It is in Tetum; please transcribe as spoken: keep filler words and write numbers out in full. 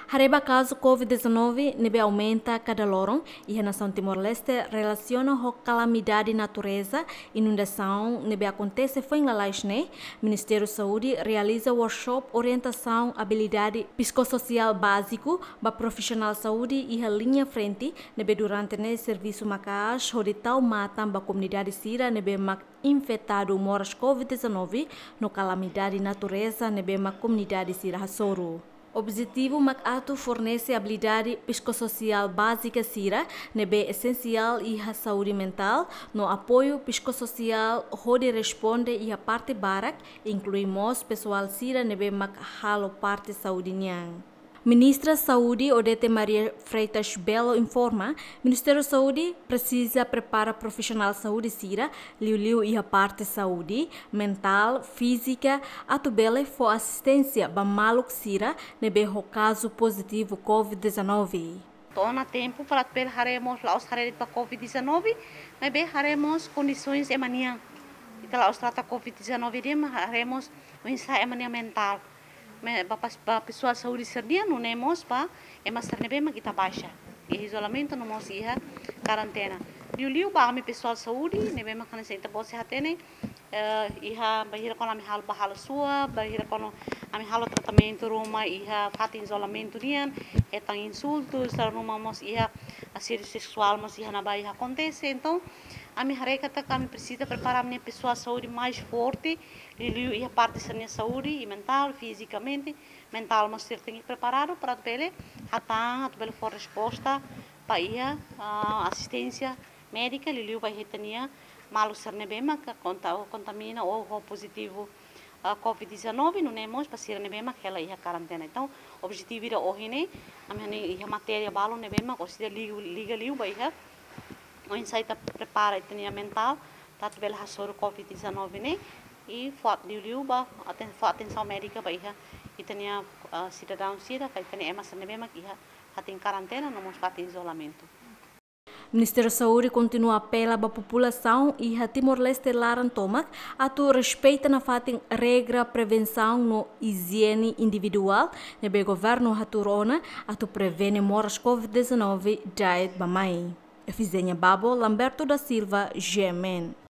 Haree ba kazu COVID dezanove ne'ebé aumenta kada loron iha nasaun Timor-Leste relasiona ho kalamidade natureza, inundasaun ne'ebé akontese foin lalais ne'e, Ministériu Saúde realiza workshop orientasaun abilidade psikossosiál báziku ba profisionál saúde iha liña frente, ne'ebé durante ne'e servisu maka'as hodi tau matan ba komunidade sira ne'ebé mak infetadu moras COVID dezanove no kalamidade natureza ne'ebé mak komunidade sira hasoru. Objetivu mak atu fornese abilidade psikossosiál bázika sira ne'ebé esensiál iha saúde mentál no apoiu psikossosiál hodi responde iha parte barak, inklui mós pesoál sira ne'ebé mak halo parte saúde nian. Ministra Saúde Odete Maria Freitas Belo informa, Ministériu Saúde presiza prepara profisionál saúde sira, liuliu iha parte saúde mentál, fízika, atu bele fó asisténsia ba maluk sira ne'ebé ho kazu pozitivu COVID dezanove. To'o ona tempu para atu bele haree mós, la'ós haree de'it ba COVID dezanove, maibé haree mós kondisoens ema nian. Ita la'ós trata COVID dezanove de'it, maibé haree mós oinsá ema nian mentál. Me, ba pas-, ba pesoál saúde sira-nian, nune'e mós ba ema sira ne'ebé mak ita baixa iha izolamentu no mós iha karentena. Liuliu ba ami pesoál saúde ne'ebé mak hanesan ita-boot sei hatene, eh, iha bainhira kuandu ami halo, bá halo suab, bainhira kuandu ami halo tratamentu ruma iha fatin izolamentu nian, hetan insultus, dala ruma mós iha asédiu seksuál mós iha ne'ebá iha akontese. Entaun, ami haree katak ami presiza prepara ami-nia pesoál saúde mais forte, liuliu iha parte sira-nia saúde, i mentál, fizikamente, mentál mós sira tenke preparadu para atu bele hatán, atu bele fó resposta ba iha, ah, asisténsia médika, liuliu ba ita-nia maluk sira ne'ebé mak konta-, ou kontamina ou ho pozitivu, ah, COVID dezanove, nune'e mós ba sira ne'ebé mak hela iha karentena. Entaun, objetivu ida ohin ne'e, ami-nia iha matéria balu ne'ebé mak orsida liga, liga liu ba iha oinsá ita prepara ita-nia mentál, atu bele hasoru COVID dezanove ne'e, i fó liuliu ba aten-, fó atensaun médika ba iha ita-nia, ah, sidadaun sira, ka ita-nia ema sira ne'ebé mak iha fatin karentena, no mós fatin izolamentu. Ministériu Saúde kontinua apela ba populasaun iha Timor-Leste laran tomak atu respeita nafatin regra prevensaun no ijiene individuál ne'ebé governu hatuur ona atu prevene moras COVID dezanove da'et ba mai. Efizenia Babo, Lamberto da Silva, G M N.